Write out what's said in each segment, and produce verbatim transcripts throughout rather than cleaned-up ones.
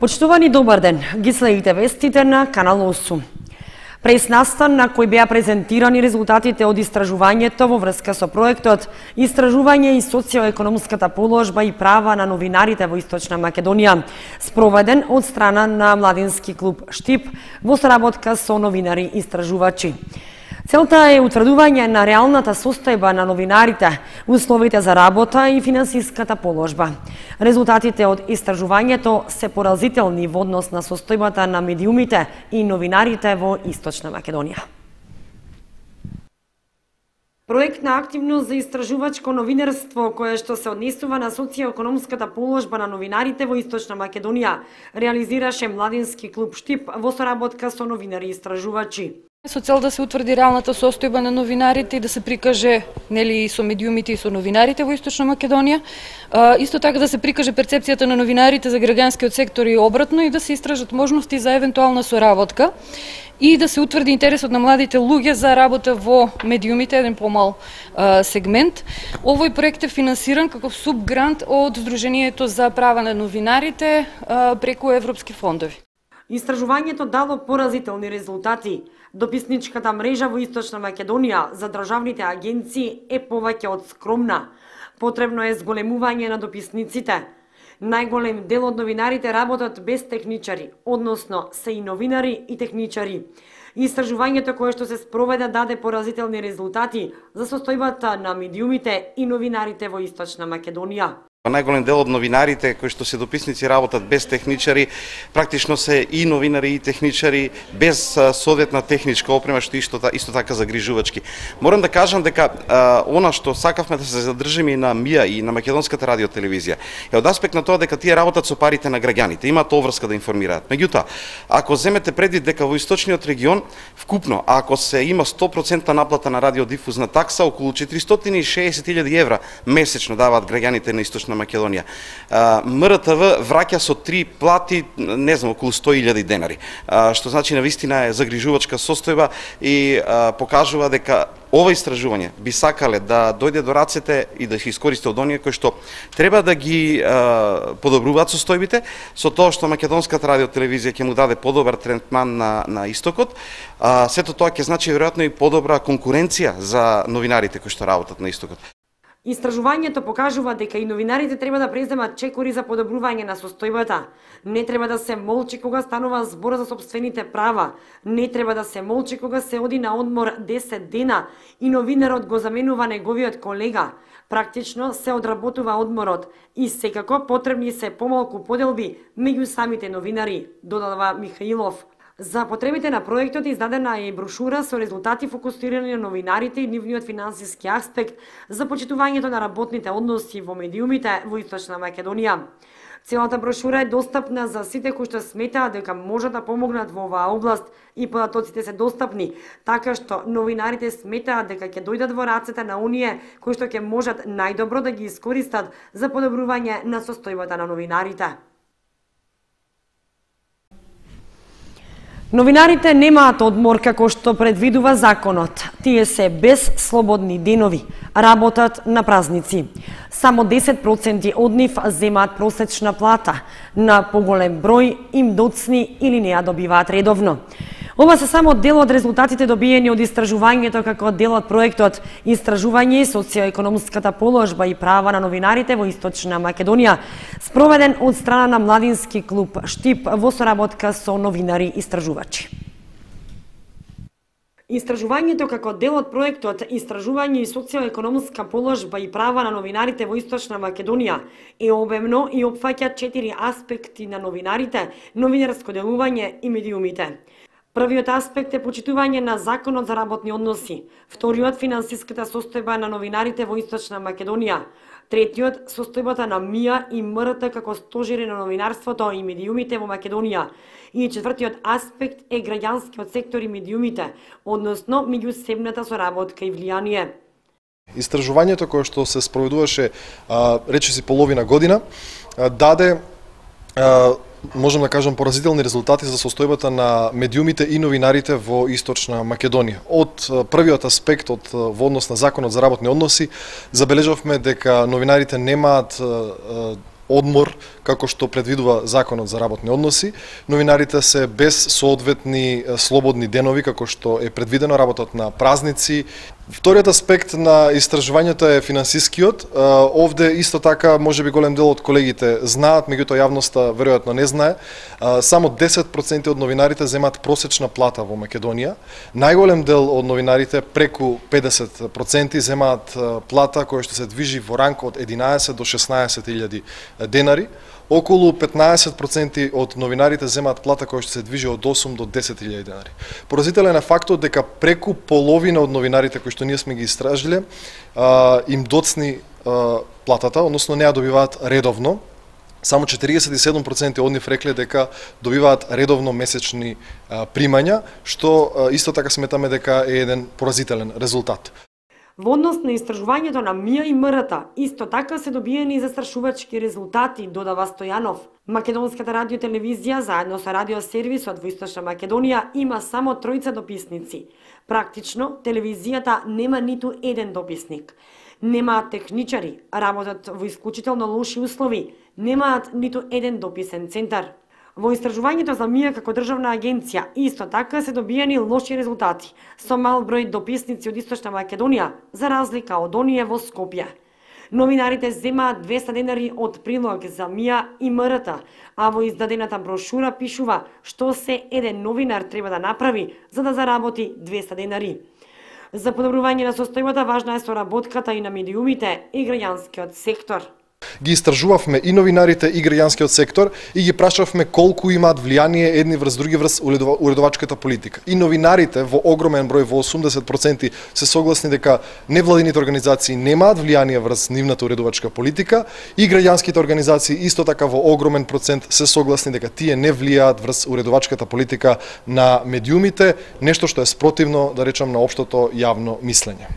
Почитувани, добар ден. Ги следите вестите на Канал осум. Прес-настан на кој беа презентирани резултатите од истражувањето во врска со проектот Истражување и социјоекономската положба и права на новинарите во Источна Македонија, спроведен од страна на Младински клуб Штип во соработка со новинари истражувачи. Целта е утврдување на реалната состојба на новинарите, условите за работа и финансиската положба. Резултатите од истражувањето се поразителни во однос на состојбата на медиумите и новинарите во Источна Македонија. Проектна активност за истражувачко новинарство, кое што се однесува на социјоекономската положба на новинарите во Источна Македонија, реализираше Младински клуб Штип во соработка со новинари истражувачи. Со цел да се утврди реалната состојба на новинарите и да се прикаже нели и со медиумите и со новинарите во Источна Македонија, исто така да се прикаже перцепцијата на новинарите за граѓанскиот сектор и обратно и да се истражат можности за евентуална соработка и да се утврди интересот на младите луѓе за работа во медиумите, еден помал а, сегмент. Овој проект е финансиран како субгрант од Сдруженијето за права на новинарите а, преку европски фондови. Истражувањето дало поразителни резултати. Дописничката мрежа во Источна Македонија за државните агенции е повеќе од скромна. Потребно е зголемување на дописниците. Најголем дел од новинарите работат без техничари, односно се и новинари и техничари. Истражувањето кое што се спроведе даде поразителни резултати за состојбата на медиумите и новинарите во Источна Македонија. Најголем дел од новинарите кои што се дописници работат без техничари, практично се и новинари и техничари без соодветна техничка опрема, што исто, исто така загрижувачки. Морам да кажам дека а, она што сакавме да се задржиме и на МИА и на Македонската радиотелевизија е од аспект на тоа дека тие работат со парите на граѓаните, имаат обврска да информираат. Меѓутоа, ако земете предвид дека во источниот регион вкупно, ако се има сто проценти наплата на радиодифузна такса, околу четиристотини и шеесет илјади евра месечно даваат граѓаните на Источна на Македонија. МРТВ враќа со три плати, не знам, околу сто илјади денари, што значи навистина е загрижувачка состојба и покажува дека ова истражување би сакале да дојде до рацете и да се искористи од оние кои што треба да ги подобруваат состојбите, со тоа што Македонската радиотелевизија ќе му даде подобар третман на, на истокот. Сето тоа ќе значи веројатно и подобра конкуренција за новинарите кои што работат на истокот. Истражувањето покажува дека и новинарите треба да преземат чекори за подобрување на состојбата. Не треба да се молчи кога станува збор за сопствените права. Не треба да се молчи кога се оди на одмор десет дена и новинарот го заменува неговиот колега. Практично се одработува одморот и секако потребни се помалку поделби меѓу самите новинари, додава Михаилов. За потребите на проектот издадена е брошура со резултати фокусирани на новинарите и нивниот финансиски аспект за почитувањето на работните односи во медиумите во Источна Македонија. Целата брошура е достапна за сите кои што сметаат дека можат да помогнат во оваа област и податоците се достапни, така што новинарите сметаат дека ќе дојдат во рацете на оние кои што ќе можат најдобро да ги искористат за подобрување на состојбата на новинарите. Новинарите немаат одмор како што предвидува законот. Тие се без слободни денови, работат на празници. Само десет проценти од нив земаат просечна плата, на поголем број им доцни или не ја добиваат редовно. Ова се само дел од резултатите добиени од истражувањето како дел од проектот Истражување и социјоекономската положба и права на новинарите во Источна Македонија, спроведен од страна на Младински клуб Штип во соработка со новинари истражувачи. Истражувањето како дел од проектот Истражување и социјоекономска положба и права на новинарите во Источна Македонија е обемно и опфаќа четири аспекти на новинарите, новинарско делување и медиумите. Првиот аспект е почитување на законот за работни односи, вториот финансиската состојба на новинарите во Источна Македонија, третиот состојбата на МИА и МРТ како стожери на новинарството и медиумите во Македонија и четвртиот аспект е граѓанскиот сектор и медиумите, односно меѓусебната соработка и влијание. Истражувањето кое што се спроведуваше речиси половина година даде можам да кажам поразителни резултати за состојбата на медиумите и новинарите во Источна Македонија. Од првиот аспект, од во однос на законот за работни односи, забележавме дека новинарите немаат одмор како што предвидува Законот за работни односи. Новинарите се без соодветни слободни денови како што е предвидено, работат на празници. Вториот аспект на истражувањето е финансискиот. Овде исто така можеби голем дел од колегите знаат, меѓутоа јавноста веројатно не знае. Само десет проценти од новинарите земаат просечна плата во Македонија. Најголем дел од новинарите, преку педесет проценти, земаат плата која што се движи во ранг од единаесет до шеснаесет илјади денари. Околу петнаесет проценти од новинарите земаат плата која што се движи од осум до десет илјади денари. Поразителен е фактот дека преку половина од новинарите кои што ние сме ги истражиле им доцни платата, односно не ја добиваат редовно. Само четириесет и седум проценти од нив рекле дека добиваат редовно месечни примања, што исто така сметаме дека е еден поразителен резултат. Во однос на истражувањето на МИА и МРТ, исто така се добиени и застрашувачки резултати, додава Стојанов. Македонската радиотелевизија, заедно со радиосервисот во Источна Македонија, има само тројца дописници. Практично, телевизијата нема ниту еден дописник. Немаат техничари, работат во исклучително лоши услови, немаат ниту еден дописен центар. Во истражувањето за МИА како државна агенција исто така се добиени лоши резултати, со мал број дописници од Источна Македонија, за разлика од оние во Скопје. Новинарите земаат двеста денари од прилог за МИА и МРТ, а во издадената брошура пишува што се еден новинар треба да направи за да заработи двеста денари. За подобрување на состојбата важна е соработката и на медиумите и граѓанскиот сектор. Ги истражувавме и новинарите и граѓанскиот сектор и ги прашавме колку имаат влијание едни врз други врз уредовачката политика. И новинарите во огромен број, во осумдесет проценти, се согласни дека невладините организации немаат влијание врз нивната уредовачка политика и граѓанските организации исто така во огромен процент се согласни дека тие не влијаат врз уредовачката политика на медиумите, нешто што е спротивно, да речам, на општото јавно мислење.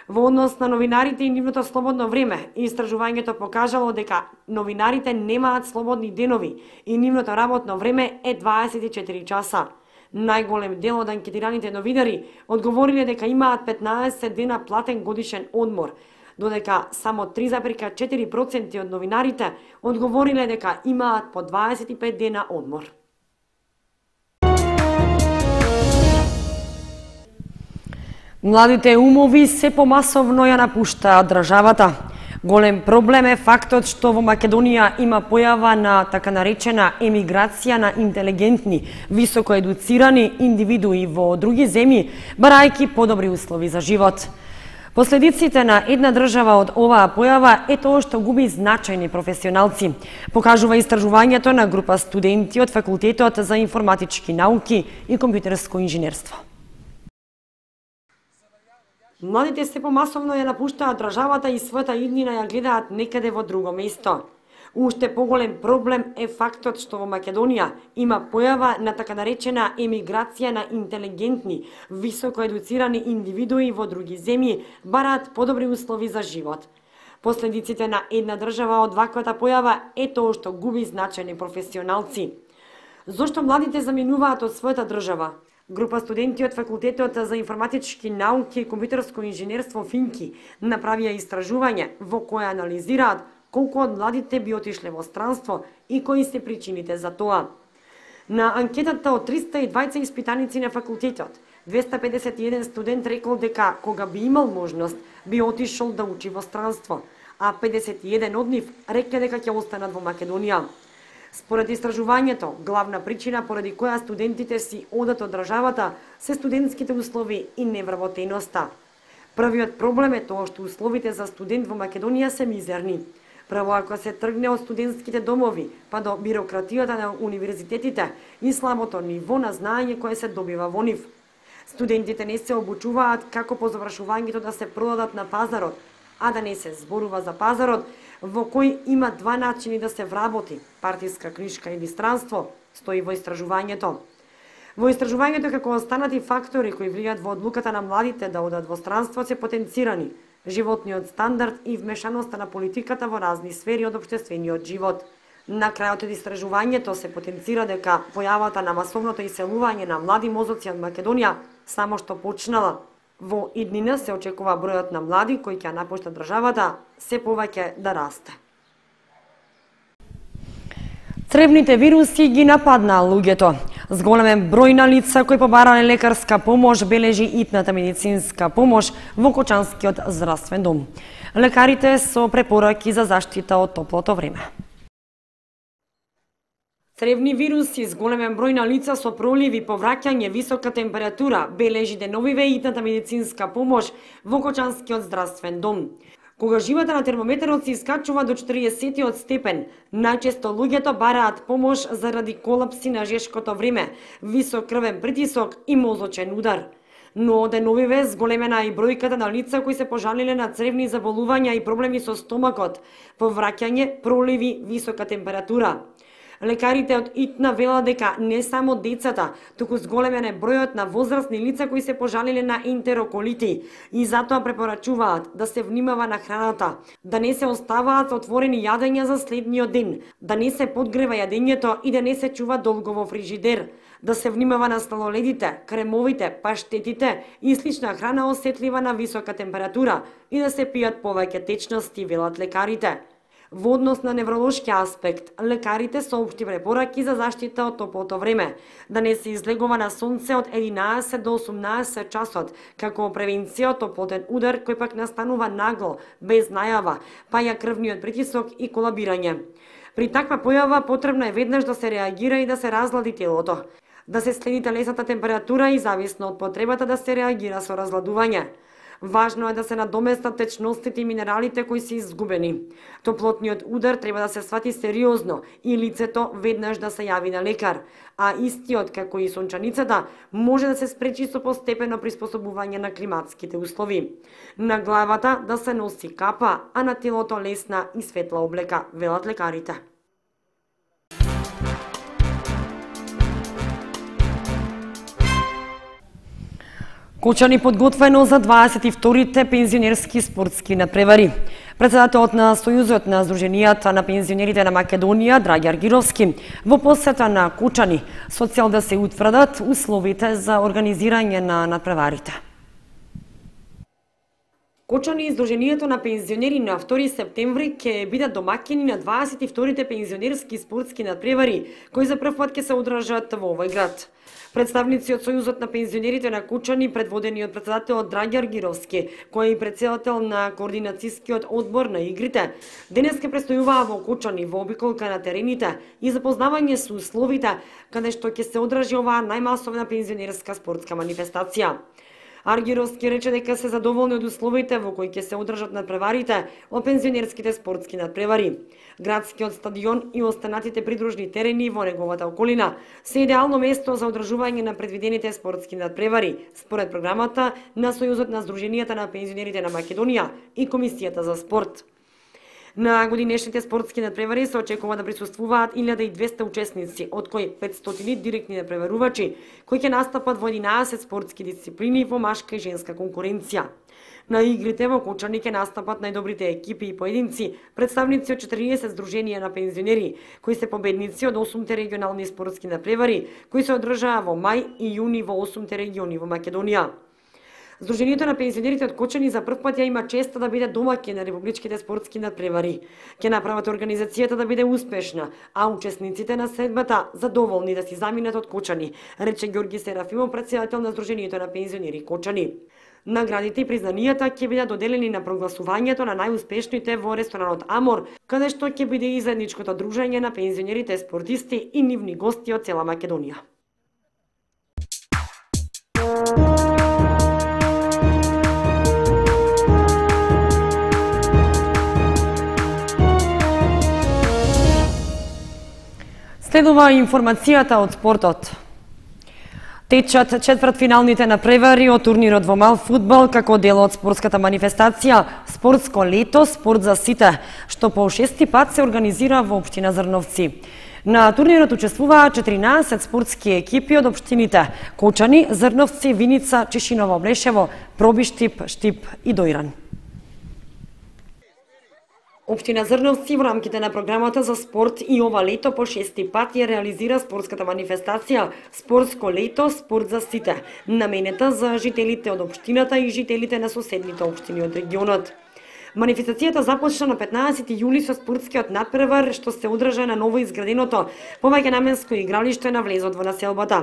Во однос на новинарите и нивното слободно време, истражувањето покажало дека новинарите немаат слободни денови и нивното работно време е дваесет и четири часа. Најголем дел од анкетираните новинари одговориле дека имаат петнаесет дена платен годишен одмор, додека само три зарез и четири проценти од новинарите одговориле дека имаат по дваесет и пет дена одмор. Младите умови се помасовно ја напуштаат државата. Голем проблем е фактот што во Македонија има појава на така наречена емиграција на интелигентни, високо едуцирани индивидуи во други земји, барајќи подобри услови за живот. Последиците на една држава од оваа појава е тоа што губи значајни професионалци, покажува истражувањето на група студенти од Факултетот за информатички науки и компјутерско инженерство. Младите се помасовно ја напуштаат државата и својата иднина ја гледаат некаде во друго место. Уште поголем проблем е фактот што во Македонија има појава на така наречена емиграција на интелигентни, високо едуцирани индивидуи во други земји, бараат подобри услови за живот. Последиците на една држава од ваквата појава е тоа што губи значајни професионалци. Зошто младите заминуваат од својата држава? Група студенти од Факултетот за информатички науки и компјутерско инженерство Финки направија истражување во кое анализираат колку од младите би отишле во странство и кои се причините за тоа. На анкетата од триста и дваесет испитаници на факултетот, двеста педесет и еден студент рекол дека кога би имал можност би отишол да учи во странство, а педесет и еден од нив рекле дека ќе останат во Македонија. Според истражувањето, главна причина поради која студентите си одат од државата се студентските услови и невработеноста. Првиот проблем е тоа што условите за студент во Македонија се мизерни. Право ако се тргне од студентските домови, па до бирократијата на универзитетите и слабото ниво на знаење кое се добива во нив. Студентите не се обучуваат како по завршувањето да се продадат на пазарот, а да не се зборува за пазарот, во кој има два начини да се вработи, партиска книжка или странство, стои во истражувањето. Во истражувањето како останати фактори кои влијаат во одлуката на младите да одат во странство се потенцирани животниот стандард и вмешаноста на политиката во разни сфери од општествениот живот. На крајот од истражувањето се потенцира дека појавата на масовното иселување на млади мозоци од Македонија само што почнала. Во иднина се очекува бројот на млади кои ќе напуштат државата се повеќе да расте. Цревните вируси ги нападнаа луѓето. Зголемен број на лица кои побарале лекарска помош бележи итната медицинска помош во Кочанскиот здравствен дом. Лекарите со препораки за заштита од топлото време. Цревни вируси, зголемен број на лица со проливи, повраќање, висока температура, бележи деновиве итната медицинска помош во Кочанскиот здравствен дом. Кога живата на термометерот се искачува до четириесет степен, најчесто луѓето бараат помош заради колапси на жешкото време, висок крвен притисок и мозочен удар. Но деновиве зголемена и бројката на лица кои се пожалиле на цревни заболувања и проблеми со стомакот, повраќање, проливи, висока температура. Лекарите од ИТНА велат дека не само децата, туку зголемен е бројот на возрастни лица кои се пожалиле на ентероколити и затоа препорачуваат да се внимава на храната, да не се оставаат отворени јадења за следниот ден, да не се подгрева јадењето и да не се чува долго во фрижидер, да се внимава на слалоледите, кремовите, паштетите и слична храна осетлива на висока температура и да се пијат повеќе течности, велат лекарите. Во однос на невролошки аспект, лекарите соопшти препораки за заштита од топлото време, да не се излегува на сонце од единаесет до осумнаесет часот, како превенција од топлотен удар кој пак настанува нагло, без најава, паја крвниот притисок и колабирање. При таква појава потребно е веднаш да се реагира и да се разлади телото, да се следи телесната температура и зависно од потребата да се реагира со разладување. Важно е да се надоместат течностите и минералите кои се изгубени. Топлотниот удар треба да се свати сериозно и лицето веднаш да се јави на лекар, а истиот, како и сончаницата, може да се спречи со постепено приспособување на климатските услови. На главата да се носи капа, а на телото лесна и светла облека, велат лекарите. Кочани подготвено за дваесет и вторите пензионерски спортски надпревари. Председателот на Сојузот на Сдруженијата на пензионерите на Македонија, Драги Аргировски, во посета на Кочани, со цел да се утврдат условите за организирање на надпреварите. Кочани и Сдруженијето на пензионери на втори септември ќе бидат домаќини на дваесет и вторите пензионерски спортски надпревари, кои за прв пат ќе се одржат во овој град. Представници од Сојузот на пензионерите на Кочани, предводени од председателот Драги Аргировски, кој е и председател на координацијскиот одбор на игрите, денес ќе престојуваа во Кочани во обиколка на терените и запознавање со условите каде што ќе се одржи оваа најмасовна пензионерска спортска манифестација. Аргировски рече дека се задоволни од условите во кои ќе се одржат надпреварите од пензионерските спортски надпревари. Градскиот стадион и останатите придружни терени во неговата околина се идеално место за одржување на предвидените спортски надпревари, според програмата на Сојузот на Сдруженијата на пензионерите на Македонија и Комисијата за спорт. На годинешните спортски надпревари се очекува да присуствуваат илјада и двесте учесници, од кои петстотини директни надпреварувачи, кои ќе настапат во единаесет спортски дисциплини во машка и женска конкуренција. На игрите во Кочани ќе настапат најдобрите екипи и поединци, представници од четириесет здруженија на пензионери, кои се победници од осумте регионални спортски надпревари, кои се одржаа во мај и јуни во осумте региони во Македонија. Сдруженијето на пензионерите од Кочани за прв пат ја има честа да биде домаќин на републичките спортски надпревари. Ќе направат организацијата да биде успешна, а учесниците на средбата задоволни да си заминат од Кочани, рече Ѓорги Серафимов, председател на Сдруженијето на пензионери Кочани. Наградите и признанијата ќе бидат доделени на прогласувањето на најуспешните во ресторанот Амор, каде што ќе биде и заедничкото дружење на пензионерите спортисти и нивни гости од цела Македонија. Следува информацијата од спортот. Течат четвртфиналните надпревари од турнирот во мал фудбал како дел од спортската манифестација Спортско лето, спорт за сите, што по шести пат се организира во општина Зрновци. На турнирот учествуваа четиринаесет спортски екипи од општините Кочани, Зрновци, Виница, Чешиново, Блешево, Пробиштип, Штип и Дојран. Општина Зрновци во рамките на програмата за спорт и ова лето по шести пат ја реализира спортската манифестација Спортско лето, спорт за сите, наменета за жителите од општината и жителите на соседните општини од регионот. Манифестацијата започна на петнаесети јули со спортскиот натпревар што се одржа на ново изграденото повеќенаменско игралиште на влезот во населбата.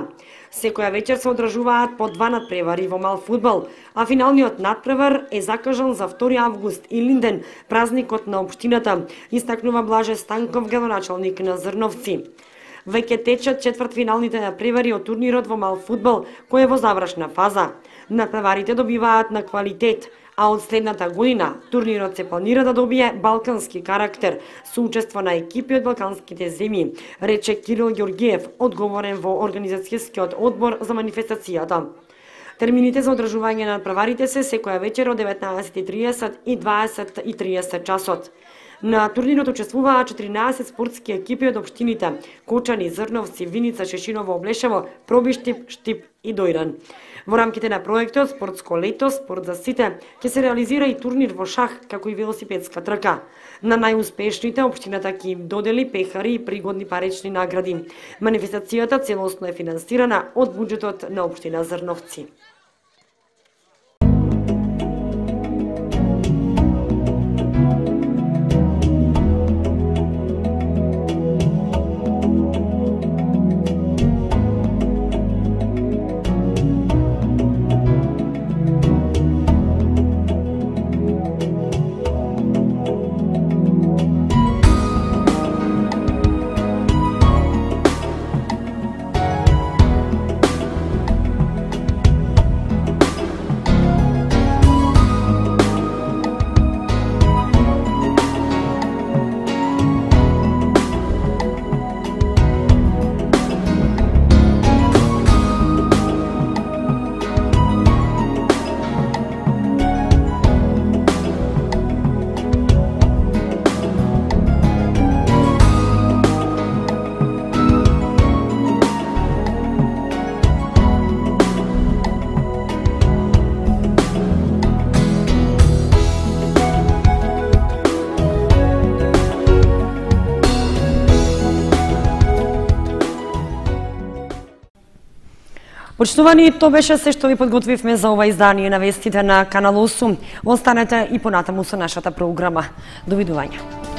Секоја вечер се одржуваат по два натпревари во мал фудбал, а финалниот натпревар е закажан за втори август и Линден, празникот на општината, истакнува Блаже Станков, градоначалник на Зрновци. Веќе течат четвртфиналните натпревари од турнирот во мал фудбал, кој е во завршна фаза. Натпреварите добиваат на квалитет, а од следната година турнирот се планира да добие балкански карактер со учество на екипи од балканските земји, рече Кирил Ѓоргиев, одговорен во организацијскиот одбор за манифестацијата. Термините за одржување на натпреварите се секоја вечер од деветнаесет и триесет и дваесет и триесет часот. На турнирот учествуваат четиринаесет спортски екипи од општините Кочани, Зрновци, Виница, Шешиново, Облешево, Пробиштип, Штип и Дојран. Во рамките на проектот Спортско лето, спорт за сите, ќе се реализира и турнир во шах, како и велосипедска трка. На најуспешните општината ќе им додели пехари и пригодни парични награди. Манифестацијата целосно е финансирана од буџетот на општина Зрновци. Почитувани, тоа беше се што ви подготвивме за ова издание на вестите на Канал осум. Останете и понатаму со нашата програма. Довидување.